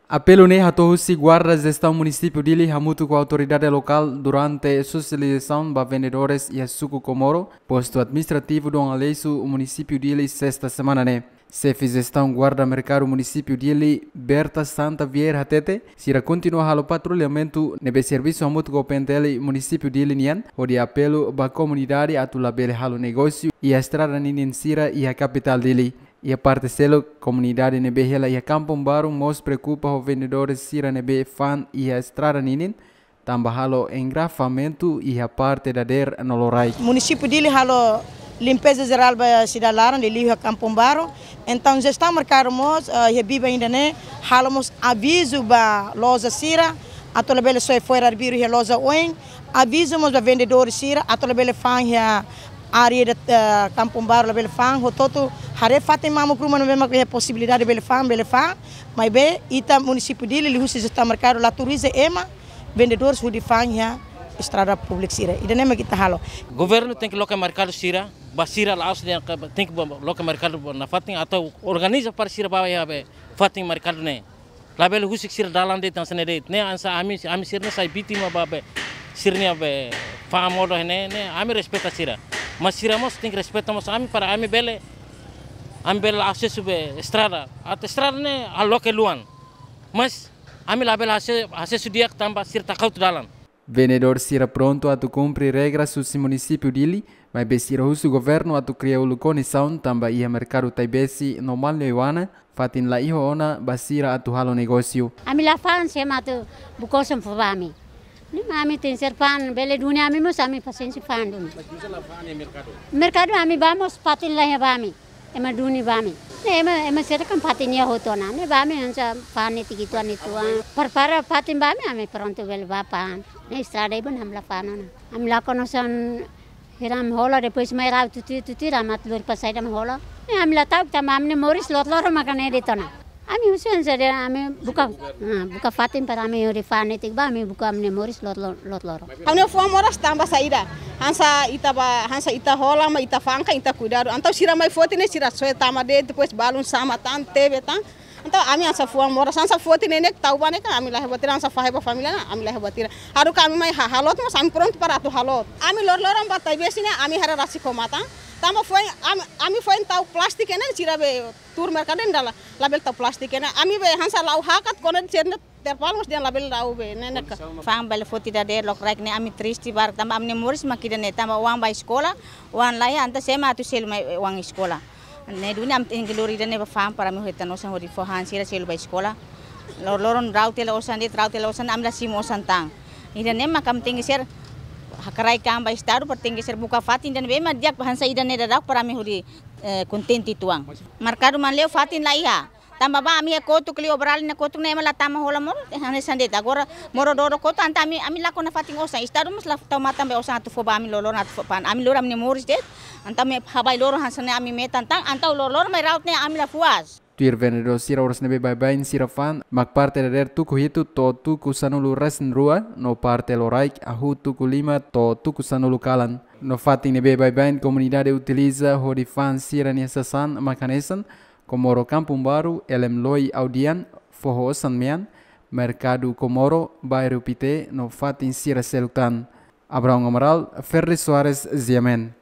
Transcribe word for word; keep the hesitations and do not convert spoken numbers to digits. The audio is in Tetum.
Apelu ne'e hato'o husi Guarda Jestaun Munisípiu Dili hamutuk ho autoridade lokál durante sosializasaun ba vendedores iha Suku Comoro, Postu Administrativu Dom Aleixo, Munisípiu Dili, sesta semana ne'e. Xefe Jestaun Guarda Merkadu Munisípiu Dili, Berta Santa Vieira hatete, sira kontinua halo patrullamentu ne'ebé servisu hamutuk ho P N T L Munisípiu Dili nian, hodi apelu ba komunidade atu labele halo negósiu iha estrada ninin sira iha kapitál Dili. Iha parte seluk, komunidade ne'ebé hela iha Kampung Baru mós preokupa ho vendedores sira ne'ebé fa'an iha estrada ninin, tanba halo engarrafamentu iha parte dadeer no loraik. Munisípiu Dili halo limpeza jerál ba sidade laran, liuliu iha Kampung Baru. Entaun, jestaun merkadu mós, eh, iha biban ida-ne'e, halo mós avizu ba loja sira atu labele soe fo'er arbiru iha loja oin. Avizu mós ba vendedór sira atu labele fa'an iha área de, eh, Kampung Baru, labele fa'an, hotu-hotu haree fatin mamuk ruma ne'ebé mak iha posibilidade bele fa'an, bele fa'an. Maibé ita Munisípiu Dili, liuhusi jestaun merkadu, la autoriza ema vendedores hodi fa'an iha estrada públiku sira. Ida-ne'e mak ita halo. Governu tenke loke merkadu sira, ba sira la'ós dehan, tenke ba loke merkadu ba nafatin atu organiza para sira ba iha be fatin merkadu ne'e. Labele husik sira dalan de'it, hanesan ne'e de'it. Ne'e hanesan ami, ami sira-ne'e sai vítima ba be sira-nia be fa'an modo ne'e, ne'e ami respeita sira. Mas sira mós tenke respeita mós ami para ami bele, ami bele asesu be estrada. Atu estrada ne'e halo loke luan. Mas ami labele ase-, asesu di'ak tanba sira taka hotu dalan. Vendedór sira prontu atu kumpre regras husi Munisípiu Dili, maibé sira husu governu atu kria uluk kondisaun tanba iha merkadu Taibesi no Maliuana, fatin la iha ona ba sira atu halo negósiu. Ami la fa'an, sé mak atu buka osan fó ba ami. Ne'e mak ami tenke ser fa'an, bele duni ami mós ami pasiénsia fa'an duni. Mas bisa la fa'an iha merkadu? Merkadu ami bá mós fatin la iha ba ami. Ema duni ba ami. Ne'e ema, ema sira kan fatin iha hotu ona. Ne'e ba ami hanesan fa'an netik ituan ituan. Prepara fatin ba ami, ami prontu bele bá fa'an. Ne'e estrada iha ne'ebá ami la fa'an ona. Ami lakon osan hirak ami hola, depois mai rau tutuir, tutuir ami atu lori para saida ami hola. Ne'e ami la ta'uk tanba ami-nia moris loron-loron mak ne'e de'it ona. Ami husu hanesan de'it, ami buka, ah, buka fatin para ami hodi fa'an netik ba, ami buka ami-nia moris loron-loron. Ami-nia fuan moras tanba saida? Hanesan ita ba, hanesan ita hola, mak ita fa'an ka ita kuidadu. Entaun sira mai foti ne'e sira soe tama de'it, depois balun sama tan, tebe tan. Entaun ami hanesan fuan moras, hanesan foti ne'e ne'e tau ba ne'e ka ami la iha buat ida, hanesan fahe ba família ne'e, ami la iha buat ida. Haruka ami mai ha-, halot mós ami prontu para atu halot. Ami loron-loron bá Taibesi ne'e, ami haree rasik ho matan. Tanba foin, ami, ami foin tau plástiku ne'e sira be tuur merkadu ne'e dala, labele tau plástiku ne'e. Ami be hanesan la'o hakat kona sira-ne'e terpal mós dehan labele la'o be ne'e ne'e ka. Fa'an bele foti dadeer, loraik ne'e ami triste barak tanba ami-nia moris mak ida-ne'e tanba oan ba eskola, oan la iha entaun sé mak atu selu mai oan eskola. Ne'e duni ami tenke lori ida-ne'e ba fa'an para ami hetan osan hodi fó han sira selu ba eskola. Loron-loron rau tiha la osan de'it, rau tiha la osan, ami la simu osan tan. Ida-ne'e mak ami tenke ser hakarak an ba Estadu para tenke ser buka fatin ida-ne'ebé mak di'ak hanesan ida-ne'e daudauk para ami hodi, eh, kontente uitoan. Merkadu Manleu fatin la iha. Tanba ba ami iha kotuk liu obrali na kotuk ne'e ema la tama hola modo, eh, hanesan de'it. Agora modo doro kotuk entaun ami, ami lakon nafatin osan. Estadu mós la tau matan be osan atu fó ba ami loron atu fó fa'an. Ami lori ami-nia moris de'it. Entaun ami habai loron hanesan ne'e ami metan tan. Entaun loron-loron mai rau tiha ne'e ami la puas. Tuir vendedór sira, oras ne'ebé baibain sira fa'an mak parte dadeer tuku hitu to'o tuku sanulu-resin-rua, no parte loraik hahú tuku lima to'o tuku sanulu kalan. No fatin ne'ebé baibain komunidade utiliza hodi fa'an sira-nia sasán mak hanesan Comoro Kampung Baru, Elem Loi Audian, Foho Osan Mean, Merkadu Comoro, Bairru Pité, no fatin sira seluk tan. Abraão Amaral, Ferdi Soares, G M N.